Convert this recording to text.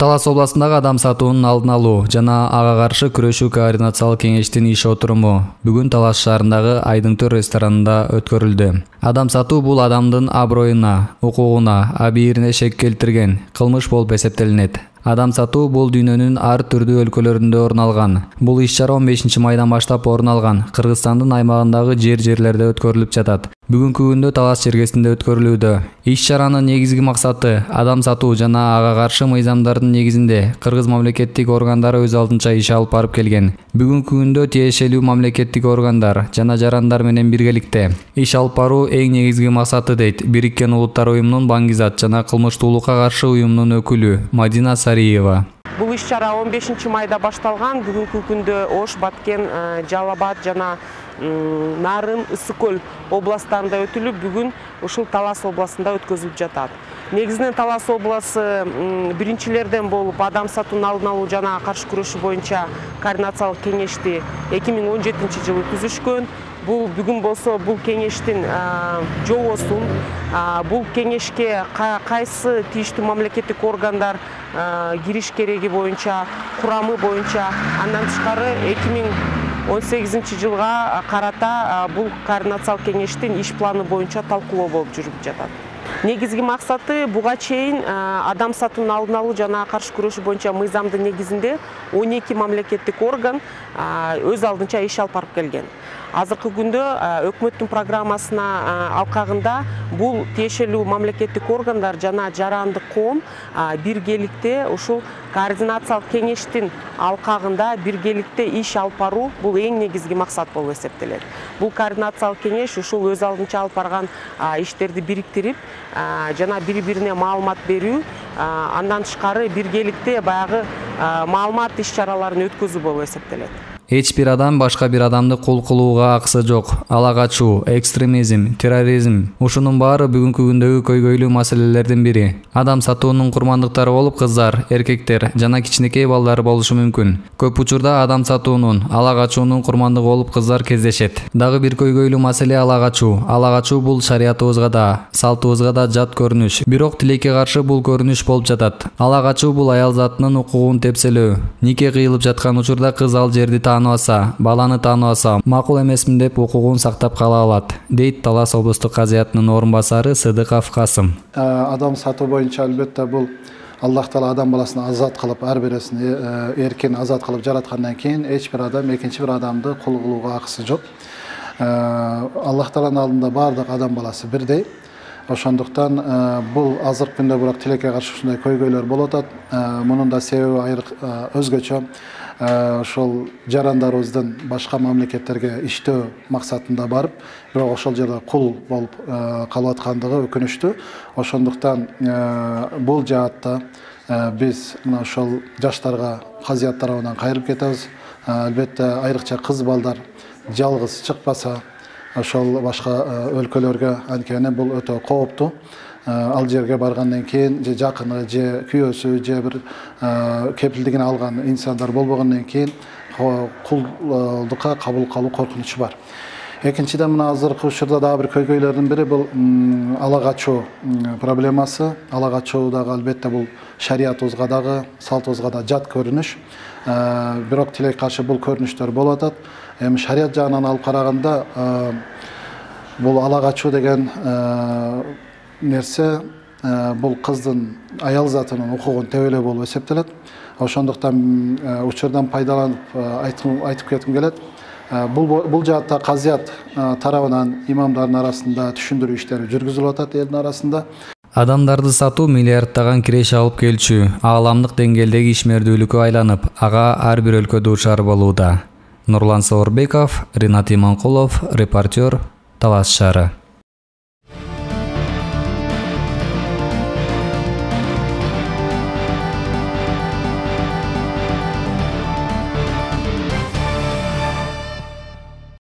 Талас областындагы адам сатуунун алдын алуу жана ага каршы күрөшүү координациялык кеңештин иш отуруму бүгүн Талас шаарындагы Айдың Төр ресторанында өткөрүлдү. Адам сатуу бул адамдын аброюна, укугуна, абийирине шек келтирген кылмыш болуп эсептелинет. Адам сатуу бул дүйнөнүн ар түрдүү өлкөлөрүндө орун алган. Бул иш-чара 15 майдан баштап орун алган Кыргызстандын аймагындагы жерлерде өткөрүлүп жатат. Бүгүнкү күндө Талас чергесинде өткөрүлүүдө. Иш-чаранын негизги максаты адам сатуу жана ага каршы мыйзамдардын негизинде кыргыз мамлекеттик органдары өз алдынча иш алып барып келген. Бүгүнкү күндө тиешелүү мамлекеттик органдар жана жарандар менен биргеликте иш алып баруу эң негизги максаты дейт Бириккен Улуттар уюмунун Баңгизат жана кылмыштуулукка каршы уюмунун өкүлү Мадина Сариева. Бул иш-чара 15 майда башталган. Бүгүнкү күндө Ош, Баткен, Жалал Абад жана Нарын, Ысык Көл областарында өтүлүп, бүгүн ушул Талас областында өткөзүлүп жатат. Негизинен Талас областы биринчилерден болуп адам сатуунун алдын алуу жана каршы күрөшүү боюнча координациялык кеңешти 2017-жылы түзүшкөн. Бүгүн болсо бул кеңештин жобосун, бул кеңешке кайсы тийиштүү мамлекеттик органдар кириш кереги боюнча, курамы боюнча, андан тышкары 2018-жылга карата бул координациялык кеңештин иш планы боюнча талкуулоо болуп жүрүп жатат. Негизги максаты буга чейин адам сатуунун алдын алуу жана каршы күрөшүү боюнча мыйзамдын негизинде 12 мамлекеттик орган өз алдынча иш алып барып келген. Азыркы күндө өкмөттүн программасына алкагында бул тиешелүү мамлекеттик органдар жана жарандык коом биргеликте ушул координациялык кеңештин алкагында биргеликте иш алып баруу бул эң негизги максат болуп эсептелет. Бул координациялык кеңеш ушул өз алдынча алып барган иштерди бириктирип жана бири-бирине маалымат берүү, андан тышкары биргеликте баягы маалымат иш-чараларын өткөзүү болуп эсептелет. Эч бир адам башка бир адамды кул кылууга акысы жок. Ала качуу, экстремизм, терроризм ушунун баары бүгүнкү күндөгү көйгөйлүү маселелердин бири. Адам сатуунун курмандыктары болуп кыздар, эркектер жана кичинекей балдар болушу мүмкүн. Көп учурда адам сатуунун, ала качуунун курмандыгы болуп кыздар кездешет. Дагы бир көйгөйлүү маселе ала качуу. Ала качуу бул шариятыбызга да, салтыбызга да жат көрүнүш. Бирок тилекке каршы бул көрүнүш болуп жатат. Ала качуу бул аял затынын укугун тепселөө. Нике кыйылып жаткан учурда кыз ал жерди тааныбаса, баланы тааныбаса, макул эмесмин деп укугун сактап кала алат, дейт Талас облустук казыятынын орун басары Сыдыков Касым. Адам сатуу боюнча албетте бул Аллах Таала адам баласын азат кылып, ар бирисин эркин азат кылып жараткандан кийин эч бир адам экинчи бир адамды кул кылууга акысы жок. Аллах Тааланын алдында баардык адам баласы бирдей. Ошондуктан бул азыркы күндө бирок тилекке каршы ушундай көйгөйлөр болуп атат. Мунун да себеби өзгөчө. Ошол жарандарыбыздын башка мамлекеттерге иштөө максатында барып, бирок ошол жерде кул болуп калып аткандыгы өкүнүчтүү. Ошондуктан бул жаатта биз мына ошол жаштарга казыят тарабынан кайрылып кетебиз. Албетте айрыкча кыз балдар жалгыз чыкпаса, ошол башка өлкөлөргө, анткени бул өтө кооптуу. Ал жерге баргандан кийин же жакыны, же күйөөсү, же бир кепилдигин алган инсандар болбогондон кийин кулдукка кабыл калуу коркунучу бар. Экинчиден мына азыркы учурда дагы бир көйгөйлөрдүн бири бул ала качуу проблемасы. Ала качуу дагы албетте бул шариятыбызга дагы, салтыбызга да жат көрүнүш. Бирок тилекке каршы бул көрүнүштөр болуп атат. Эми шарият жагынан алып караганда бул ала качуу деген нерсе бул кыздын аял затынын укугун тебелөө болуп эсептелет. Ошондуктан учурдан пайдаланып айтып кетким келет. Бул жаатта казыят тарабынан имамдардын арасында түшүндүрүү иштери жүргүзүлүп атат элдин арасында. Адамдарды сатуу миллиарддаган киреше алып келчү ааламдык деңгээлдеги ишмердүүлүккө айланып, ага ар бир өлкө дуушар болууда. Нурлан Саурбеков, Ринат Иманкулов, репортер, Талас шаары.